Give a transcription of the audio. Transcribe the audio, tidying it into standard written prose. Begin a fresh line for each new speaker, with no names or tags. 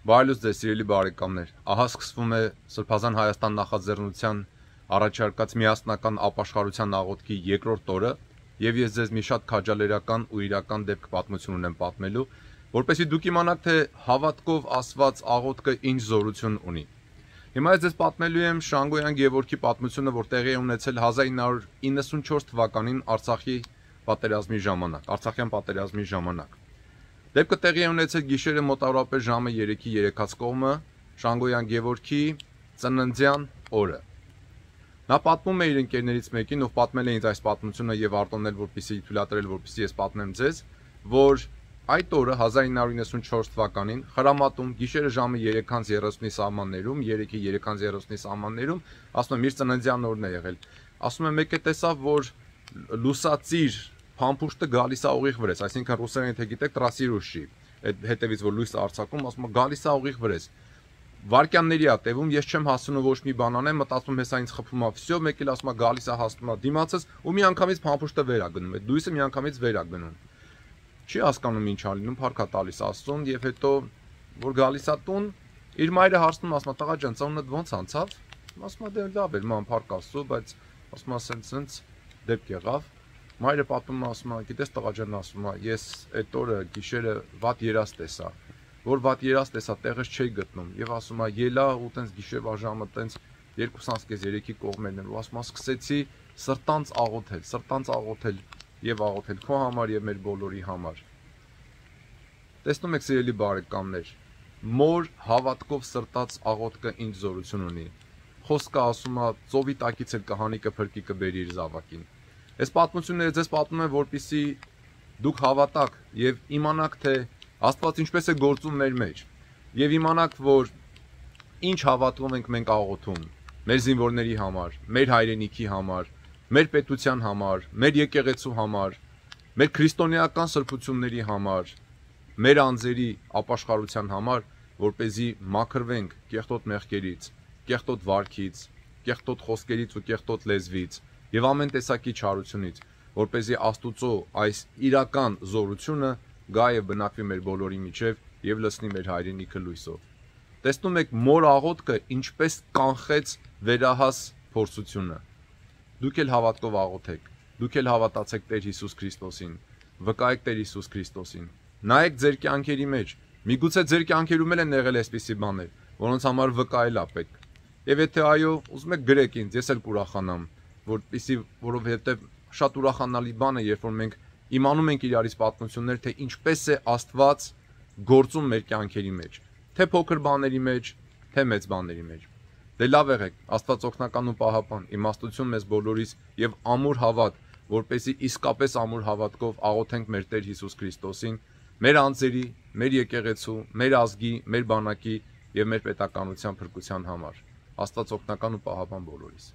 Բարելուց ձեզ սիրելի բարեկամներ, ահա սկսվում է Սրբազան Հայաստան նախաձեռնության առաջարկած միասնական ապաշխարության աղոթքի երկրորդ օրը եւ ես ձեզ մի շատ քաջալերական ու իրական դեպք պատմություն ունեմ պատմելու, որպեսզի դուք իմանաք, թե հավատքով ասված աղոթքը ինչ զորություն ունի։ Հիմա ես ձեզ պատմելու եմ Շանգոյան Գևորգի պատմությունը, որ տեղի է ունեցել 1994 թվականին Արցախյան պատերազմի ժամանակ։ Դեպքը տեղի է ունեցել գիշերը մոտավորապես ժամը 3-ի երեկած կողմը Շանգոյան Գևորգի ծննդյան օրը։ Նա պատմում է իր ընկերներից մեկին, ով պատմել է ինձ այս պատմությունը եւ արտոնել, որպեսզի թույլատրել, որպեսզի ես պատմեմ ձեզ, որ այդ օրը 1994 թվականին Խրամատում գիշերը ժամը 3:30-ի սահմաններում, 3-ի 3:30-ի սահմաններում, ասում եմ իր ծննդյան օրն է եղել։ Ասում եմ մեկը տեսավ, որ լուսածիր փամփուշտը գալիս է ուղիղ վրես, այսինքն ռուսերեն թե գիտեք տրասիրուշի, այդ հետևից որ լույսը արձակում, ասում է գալիս է ուղիղ վրես։ Վարկյանների է տևում, ես չեմ հասնում ոչ մի բան անեմ, մտածում հեսա ինձ խփում է, վсё, մեկ էլ ասում է գալիս է հասնում է դիմացս ու միանգամից փամփուշտը վեր է գնում, այդ լույսը միանգամից վեր է գնում։ Չի հասկանում ինչ ա լինում, փառք է տալիս Աստծուն եւ հետո որ գալիս է տուն, իր մայրը հարցնում, ասում է տղա ջան, ծնունդդ ոնց անցավ։ Ասում է դե լավ էր, ման փառք Աստծո, բայց ասում է սենց դեպք եղավ։ Մայրը պատմում է, ասում է, գիտես տղա ջան, ասում է, ես այդ օրը գիշերը վատ երազ տեսա, որ վատ երազ տեսա, տեղս չէի գտնում եւ ասում է, ելա ու տենց գիշերվա ժամը տենց 2:30-3-ի կողմերն են ու ասում է, սկսեցի սրտանց աղոթել եւ աղոթել քո համար եւ մեր բոլորի համար։ Տեսնում եք սիրելի բարեկամներ, մոր հավատքով սրտած աղոթքը ինչ զորություն ունի։ Խոսքը ասում է, ծովի տակից էլ կհանի կփրկի կբերի իր զավակին։ Այս պատմությունները ձեզ պատմում եմ, որպեսզի դուք հավատաք եւ իմանաք, թե Աստված ինչպես է գործում մեր մեջ եւ իմանաք, որ ինչ հավատով ենք մենք աղոթում մեր զինվորների համար, մեր հայրենիքի համար, մեր պետության համար, մեր եկեղեցու համար, մեր քրիստոնեական սրբությունների համար, մեր անձերի ապաշխարության համար, որպեսզի մաքրվենք կեղտոտ մեղքերից, կեղտոտ վարքից, կեղտոտ խոսքերից ու կեղտոտ լեզվից եւ ամեն տեսակի չարությունից, որպեսզի Աստուծո այս իրական զորությունը գա եւ բնակվի մեր բոլորի միջեւ եւ լցնի մեր հայրենիքը լույսով։ Տեսնում եք մոր աղոթքը ինչպես կանխեց վերահաս փորձությունը։ Դուք էլ հավատքով աղոթեք, դուք էլ հավատացեք Տեր Հիսուս Քրիստոսին, վկայեք Տեր Հիսուս Քրիստոսին։ Նայեք ձեր կյանքերի մեջ, միգուցե ձեր կյանքերում էլ են եղել այսպիսի բաներ, որոնց համար վկայել է պետք։ Եվ եթե այո, ուզում եք գրեք ինձ, ես էլ կուրախանամ, որովհետև շատ ուրախանալի բան է, երբ որ մենք իմանում ենք իրարից պատմություններ, թե ինչպես է Աստված գործում մեր կյանքերի մեջ, թե փոքր բաների մեջ, թե մեծ բաների մեջ։ Դե լավ եղեք, Աստված օգնական ու պահապան, իմաստություն մեզ բոլորիս եւ ամուր հավատ, որպեսզի իսկապես ամուր հավատքով աղոթենք մեր Տեր Հիսուս Քրիստոսին, մեր անձերի, մեր եկեղեցու, մեր ազգի, մեր բանակի եւ մեր պետականության փրկության համար։ Աստված օգնական ու պահապան բոլորիս։